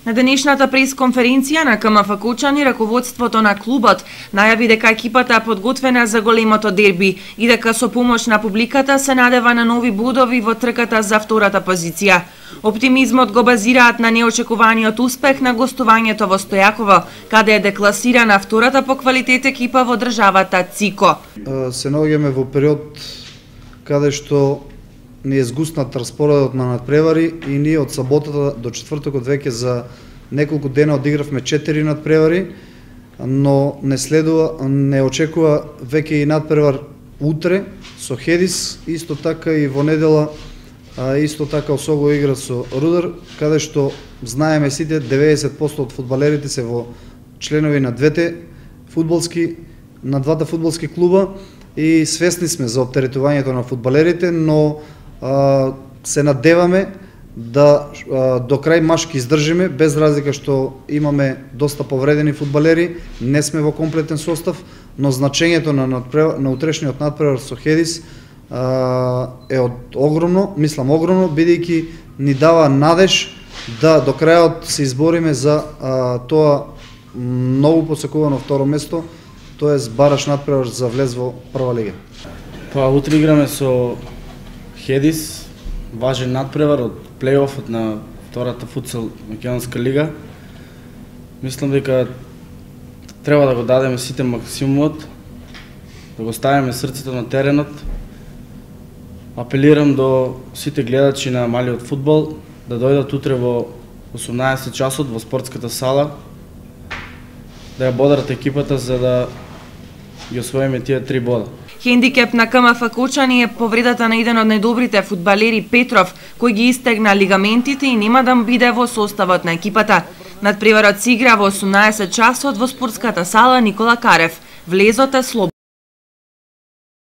На денешната пресконференција на КМФ Кочани, раководството на клубот најави дека екипата е подготвена за големото дерби и дека со помош на публиката се надева на нови бодови во трката за втората позиција. Оптимизмот го базираат на неочекуваниот успех на гостувањето во Стојаково, каде е декласирана втората по квалитет екипа во државата ЦИКО. Се наоѓаме во период каде што ни е згуснат распоредот на надпревари и ние од саботата до четвртокот веќе за неколку дена одигравме 4 надпревари, но не очекува веќе и надпревар утре со Хедис, исто така и во недела, исто така особо игра со Рудар, каде што знаеме сите 90% од фудбалерите се во членови на двата фудбалски клуба и свесни сме за оптеретувањето на фудбалерите, но се надеваме да до крај машки издржиме, без разлика што имаме доста повредени фудбалери, не сме во комплетен состав, но значењето на утрешниот надпревар со Хедис е огромно, бидејќи ни дава надеж да до крајот се избориме за тоа многу посекувано второ место, тоест бараш надпревар за влез во прва лига. Утре играме со Хедис, важен надпревар од плейофот на втората футсал македонска лига. Мислам дека треба да го дадеме сите максимумот, да го ставиме срцето на теренот. Апелирам до сите гледачи на малиот фудбал да дојдат утре во 18 часот во спортската сала, да ја бодрат екипата за да ги освоиме тие 3 бода. Хендикеп на КМФ Кочани е повредата на еден од најдобрите фудбалери Петров, кој ги истегна лигаментите и нема да биде во составот на екипата. Надпреварот се игра во 18 часот во спортската сала Никола Карев. Влезот е слободен.